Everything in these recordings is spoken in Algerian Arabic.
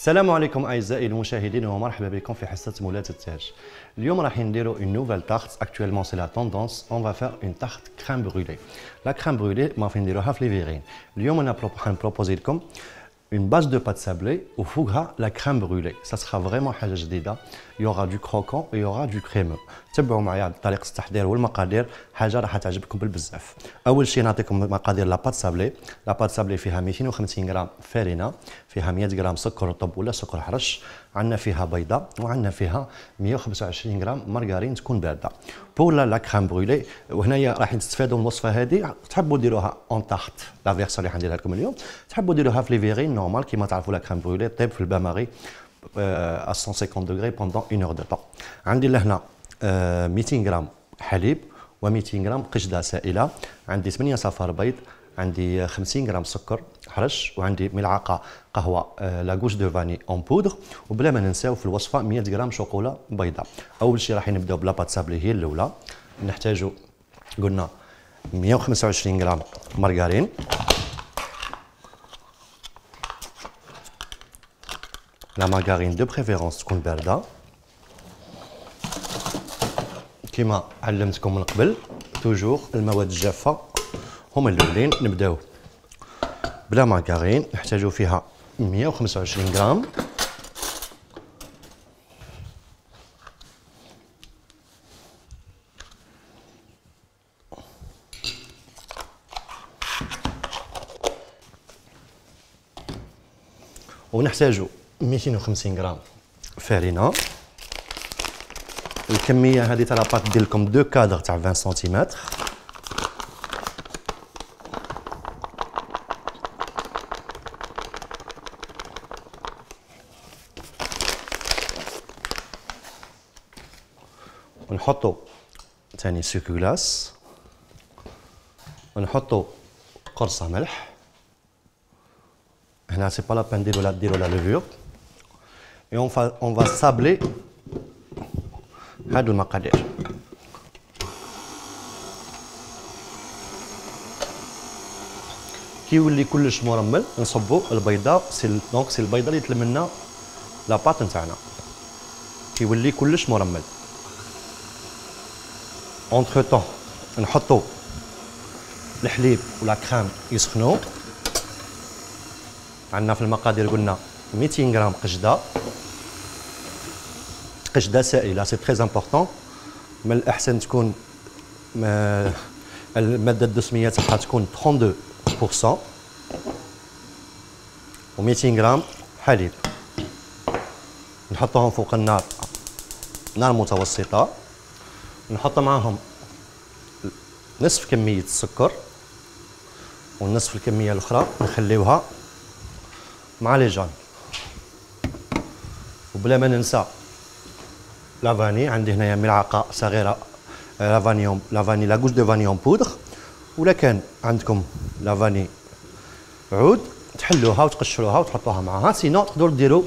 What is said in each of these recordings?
السلام عليكم اعزائي المشاهدين ومرحبا بكم في حصه مولات التاج. اليوم راح نديروا une nouvelle tarte. Actuellement c'est la tendance. On va faire une tarte crème brûlée. La crème brûlée ما في نديروها في ليفيغين. اليوم انا حنبروبوزي لكم une base de pâte sablée وفوقها la crème brûlée. Ça sera vraiment حاجه جديده. Il y aura du croquant et il y aura du crémeux. تبعوا معايا طريقه التحضير والمقادير، حاجه راح تعجبكم بالبزاف. اول شيء نعطيكم مقادير لا بات سابلي. لا بات سابلي فيها 250 غرام فارينه، فيها 100 غرام سكر رطب ولا سكر حرش، عندنا فيها بيضه، وعندنا فيها 125 غرام مارغرين تكون بارده. بور لا كريم برويلي، وهنايا راح تستفادوا من الوصفه هذه، تحبوا ديروها اون تارت لا فيرسيون اللي حنديرها لكم اليوم، تحبوا ديروها في ليفيغين نورمال كيما تعرفوا لا كريم برويلي طيب في البان ماري à 150 degrés pendant 1 heure de temps. عندي لهنا 200 غرام حليب و200 غرام قشده سائله، عندي 8 صفار بيض، عندي 50 غرام سكر حرش، وعندي ملعقه قهوه لاغوش دو فاني اون بودر، وبلا ما ننساو في الوصفه 100 غرام شوكولا بيضاء. اول شيء راح نبداو بلا بات سابلي هي الاولى. نحتاجو قلنا 125 غرام مارغرين، لا مارغرين دو بريفيرونس تكون بارده كما علمتكم من قبل. توجور المواد الجافه هما الاولين. نبداو بلا مارغرين، نحتاجو فيها 125 غرام، ونحتاجو 250 غرام فارينه. الكميه هذه تاع لاباط دير لكم 2 كادر تاع 20 سنتيمتر. ونحطوا ثاني سوكو غلاس، ونحطوا قرصه ملح. هنا سي با لا بان ديروا لا ليفور. et on va sabler هادو المقادير. كي يولي كلش مرمل نصبوا البيضه. دونك سي البيضه اللي تلم لنا لاباط نتاعنا. كي يولي كلش مرمل اونتر طون نحطوا الحليب ولا كريم يسخنوا. عندنا في المقادير قلنا 200 غرام قشده سائله، سي تري امبورطون. من الاحسن تكون الماده الدسميه تاعها تكون 32%، و200 غرام حليب نحطوهم فوق النار، نار متوسطه. نحط معاهم نصف كميه السكر، والنصف الكميه الاخرى نخليوها مع لي جان. وبلا ما ننسى لافاني، عندي هنايا ملعقه صغيره لافاني لاغوش دو فاني اون بودر، ولا كان عندكم لافاني عود تحلوها وتقشروها وتحطوها معاها. سينو تقدروا ديروا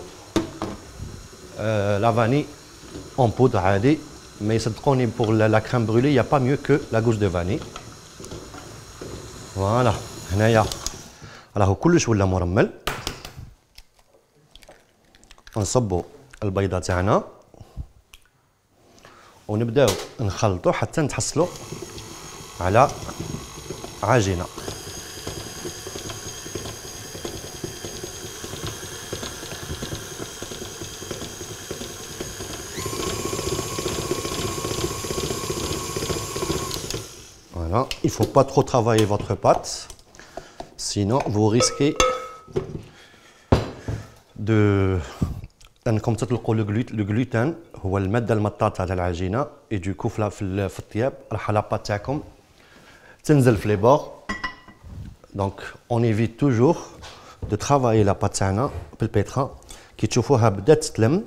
لافاني اون بودر عادي. ما يصدقوني بوغ لا كريم برولي يا با ميو كو لاغوش دو فاني. فوالا هنايا راهو كلش ولا مرمل. نصبوا البيضه تاعنا ونبداو نخلطوا حتى نتحصلوا على عجينه. Voilà, il faut pas trop travailler votre pâte, sinon vous risquez de انكم تطلقوا لو غلوتين، هو الماده المطاطه تاع العجينه، اي دوكو في الطياب راح لاباط تاعكم تنزل في لي بور. دونك اون ايفيت توجور دو ترافايي لاباط تاعنا بالبيترا. كي تشوفوها بدات تلم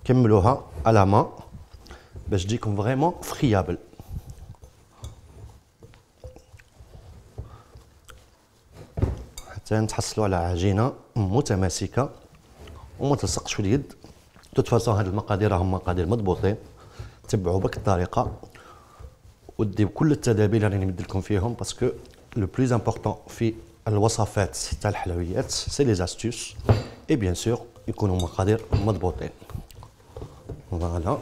كملوها على ما باش تجيكم فريمون فريابل. حتى نتحصلوا على عجينه متماسكه وما تلصقش في اليد. توت فاسون هاد المقادير راهم مقادير مضبوطين، تبعوا بك الطريقه وديو كل التدابير اللي نمد لكم فيهم، باسكو لو بلوز امبورطون في الوصفات تاع الحلويات سي لي استوس اي بيان سور يكونوا مقادير مضبوطين. فوالا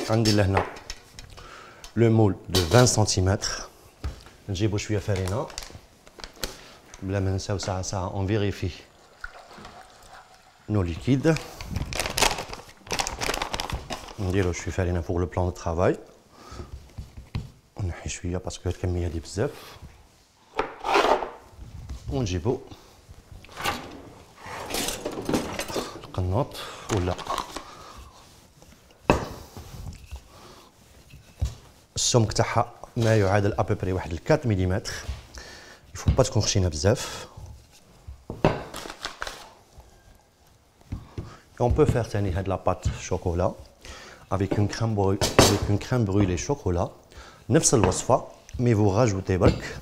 عندي لهنا لو مول دو 20 سنتيمتر. نجيبو شويه فرينه بلا ما نساو ساعه اون فيريفي نو ليكيد. نديرو شويه فرينه فوق لو بلان دو طرافاي. نحي شويه باسكو الكميه هادي بزاف. ونجيبو القنوط ولا السمك تاعها ما يعادل ابوبري واحد 4 ملم. يفو با تكون خشينه بزاف. On peut faire تاني هاد لا بات شوكولا avec une crème brûlée chocolat. نفس الوصفه مي vous rajoutez برك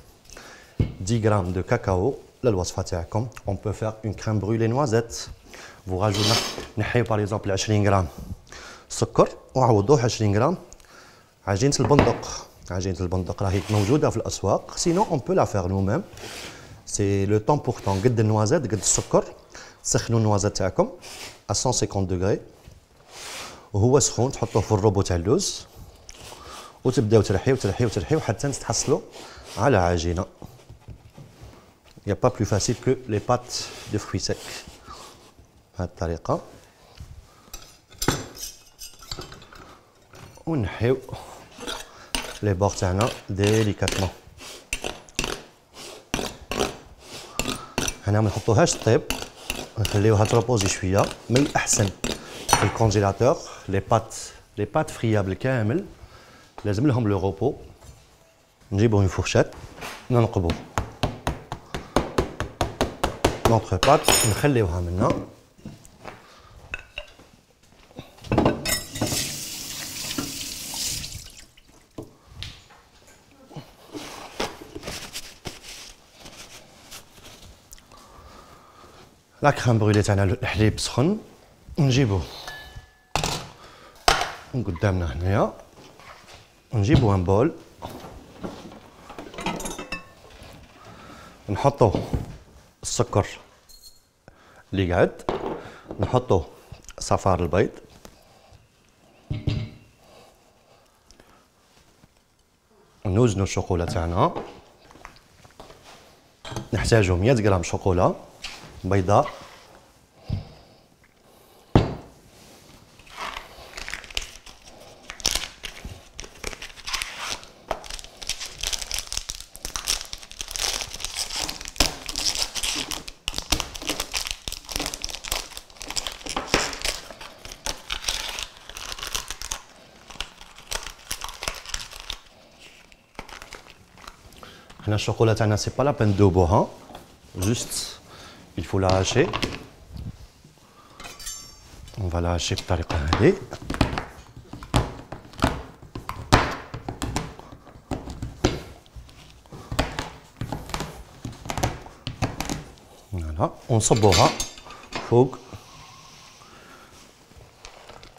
10 غرام دو كاكاو للوصفه تاعكم. On peut faire une crème brûlée noisette. vous rajoutez نحيو باغ اكزومبل 20 غرام سكر وعوضوه 20 غرام عجينه البندق. عجينه البندق راهي موجوده في الاسواق. سينو اون بو لا فير نو ميم. سي لو طون بور طون قد النوازيت قد السكر. تسخنوا النوازيت تاعكم à 150 دوغري وهو سخون تحطوه في الروبو تاع اللوز وتبداو ترحيو ترحيو ترحيو حتى تحصلوا على عجينه. يا با بلو فاسيل كو لي بات دو فروي سيك. بهذه الطريقه ونحيو لي بور تاعنا ديليكاتمون. هنا ما نحطوهاش طيب، نخليوها تروبوزي شويه. من الاحسن في الكونجيلاتور لي بات فريابل كامل لازم لهم لو روبو. نجيبو اون فورشات ننقبو نونتر بات نخليوها منا. لا كريم برويلي تاعنا الحليب سخن نجيبوه من قدامنا هنايا. نجيبو ان بول نحطو السكر اللي قعد، نحطو صفار البيض، نوزنو الشوكولا تاعنا. نحتاجو 100 غرام شوكولا بيضاء، هنا الشوكولا تاعنا سي با لا بين دوبوها، جوست il faut la hacher. On va la hacher بالطريقة هذه. فوالا ونصبوها فوق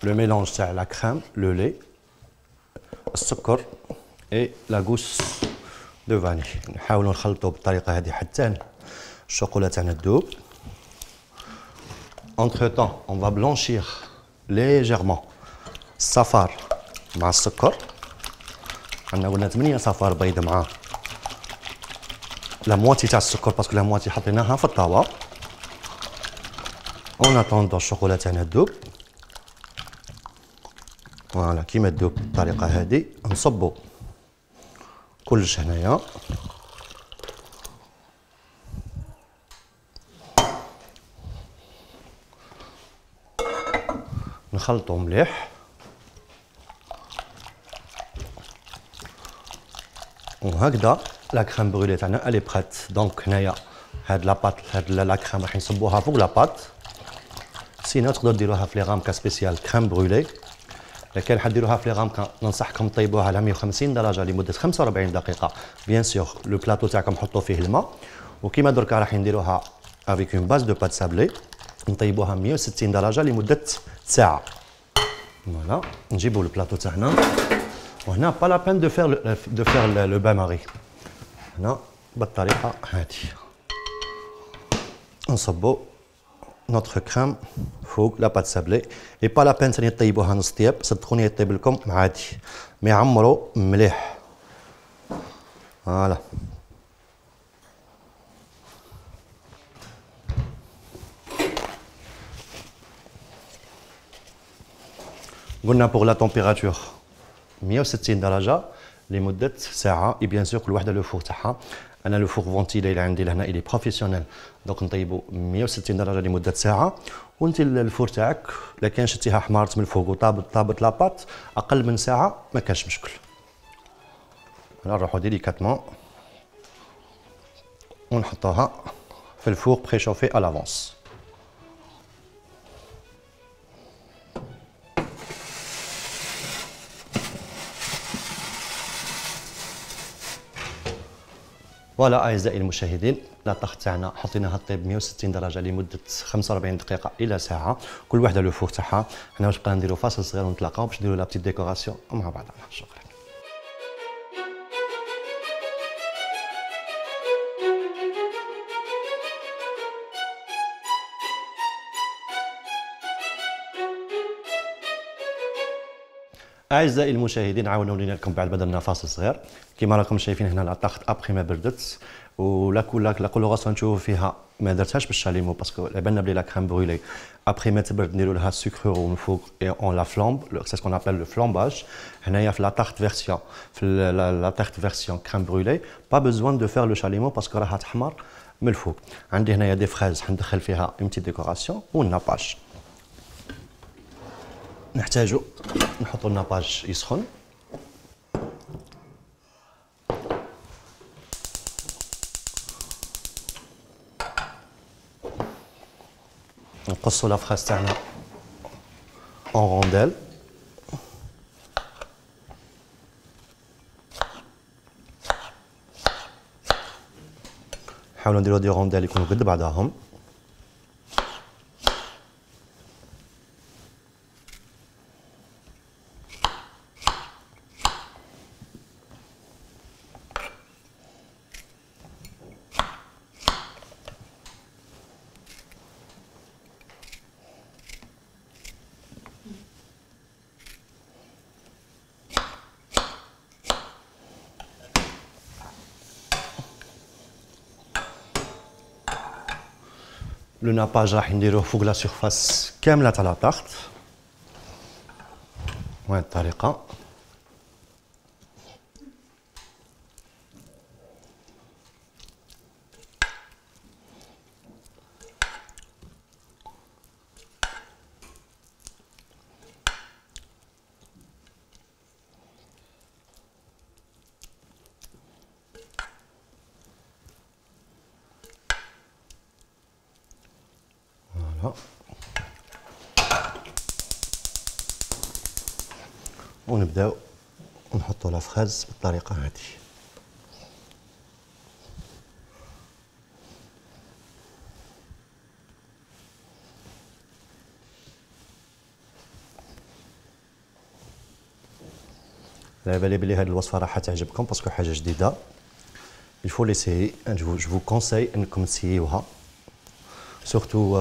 لو ميلونج تاع لا كريم لو لي السكر اي لا غوس دو فاني. نحاولوا نخلطوا بالطريقة هذه حتى الشوكولا تاعنا تذوب. Entre temps, on va blanchir légèrement الصفار مع السكر. عندنا قلنا 8 صفار بيض مع لا مواتي تاع السكر باسكو لا مواتي حطيناها في الطاوة. اون اتوندون الشوكولا تاعنا تذوب. فوالا كيما تذوب بالطريقة هذه نصبو كلش هنايا. نخلطو مليح وهكذا لا كريم برويلي تاعنا الي بريت. دونك هنايا هاد لا بات هاد لا كريم راح نصبوها فوق لا بات. سينو تقدروا ديروها في لي غامكا سبيسيال كريم برويلي. الا كان حديروها في لي غامكا ننصحكم طيبوها على 150 درجه لمده 45 دقيقه. بيان سور لو بلاطو تاعكم حطوا فيه الماء، وكيما دركا راح نديروها افيك اون باز دو بات سابلي نطيبوها 160 درجه لمده ساعه. فوالا نجيبو البلاطو تاعنا وهنا با لا بين دو فير لو بان ماري. هنا بالطريقه هذه نصبو نوتر كريم فوق لا بات سابلي. اي با لا بين ثاني طيبوها نص طياب، صدقوني يطيب لكم عادي، مي عمرو مليح. فوالا قلنا بوغ لا تمبيراتور 160 درجه لمده ساعه. اي بيان سور كل وحده لو فور تاعها. انا لو فور فونتيلي اللي عندي لهنا الي بروفيسيونيل، دونك نطيبو 160 درجه لمده ساعه. وانت الفور تاعك الا كان شتيها حمارت من الفوق وطابت لاباط اقل من ساعه ما كانش مشكل. انا نروحو ديليكاتمون ونحطوها في الفور بريشوفي على لافونس. فوالا اعزائي المشاهدين، لا طاغ تاعنا حطيناها طيب 160 درجه لمده 45 دقيقه الى ساعه، كل وحده لو فور تاعها. حنا واش بقينا نديرو فاصل صغير ونتلاقاو باش نديرو لا بتيت ديكوراسيون مع بعضنا. شكرا. اعزائي المشاهدين، عاودنا ولينا لكم بعد ما درنا فاصل صغير. كما راكم شايفين هنا لا طاغت ابخي ما بردت، ولا كولوغاسيون نشوفوا فيها ما درتهاش بالشاليمو باسكو على بالنا بلي لا كريم برويلي ابخي ما تبرد نديروا لها السكر ومن فوق اون لا فلامب، سي سكون ابل لو فلامباج. هنايا في لا طاغت فيرسيون، في لا طاغت فيرسيون كريم برويلي با بوزوان دو فير لو شاليمو باسكو راها تحمر من الفوق. عندي هنايا دي فريز حندخل فيها اون بتيت ديكوراسيون والناباج. نحتاجو نحطو الناباج يسخن. نقصو لا فراس تاعنا اون رونديل. نحاولو نديرو دي رونديل يكونوا قد بعضاهم. لو ناباج راح نديروه فوق لا سيرفاس كامله تاع لا طاغت بهذه الطريقه. ونبداو نحطو لا فراز بالطريقه هذه. على بالي بلي هذه الوصفه راح تعجبكم باسكو حاجه جديده. il faut l'essayer. je vous conseille انكم تسيوها سورتو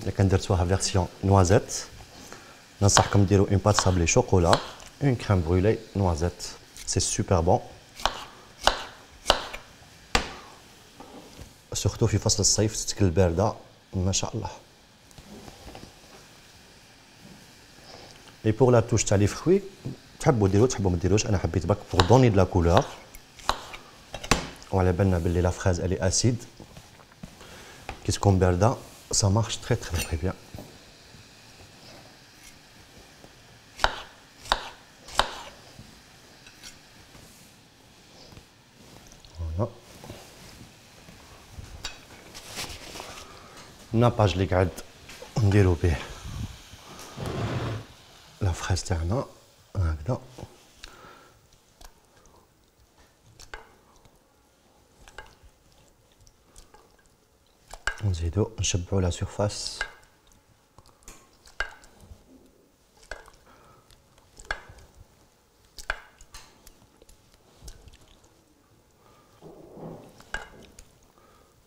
الا كان درتوها فيرسيون نوازيت. ننصحكم ديروا اون بات صابلي شوكولا، اون كريم برويلي نوازيت، سي سوبر بون سورتو في فصل الصيف تتكل البارده ما شاء الله. اي بور لا توش تاع لي فروي تحبوا ديروا تحبوا ما ديروش، انا حبيت باك بور دوني دو لا كولور. وعلى بالنا بلي لا فراز الي اسيد كي تكون بارده ça marche très très très bien. Voilà. الناباج اللي قاعد نديرو به لا فراز تاعنا هكذا. نزيدو نشبعو لا سيرفاس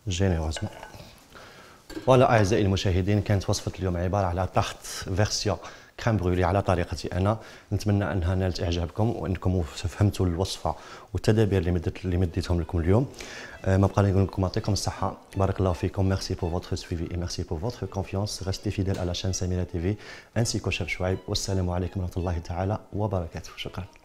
جينيروزمون. فوالا اعزائي المشاهدين، كانت وصفه اليوم عباره على تارت فيرسيون كريم برويلي على طريقتي انا. نتمنى انها نالت اعجابكم وانكم فهمتوا الوصفه والتدابير اللي مديتهم لكم اليوم. ما بقى نقول لكم يعطيكم الصحه، بارك الله فيكم. ميرسي بور فوتر سويفي et merci pour votre confiance. Restez fidèles à la chaîne Samira TV ainsi qu'au chef Chouaib. Wassalamu alaikum wa rahmatullahi ta'ala wa barakatuh. شكرا.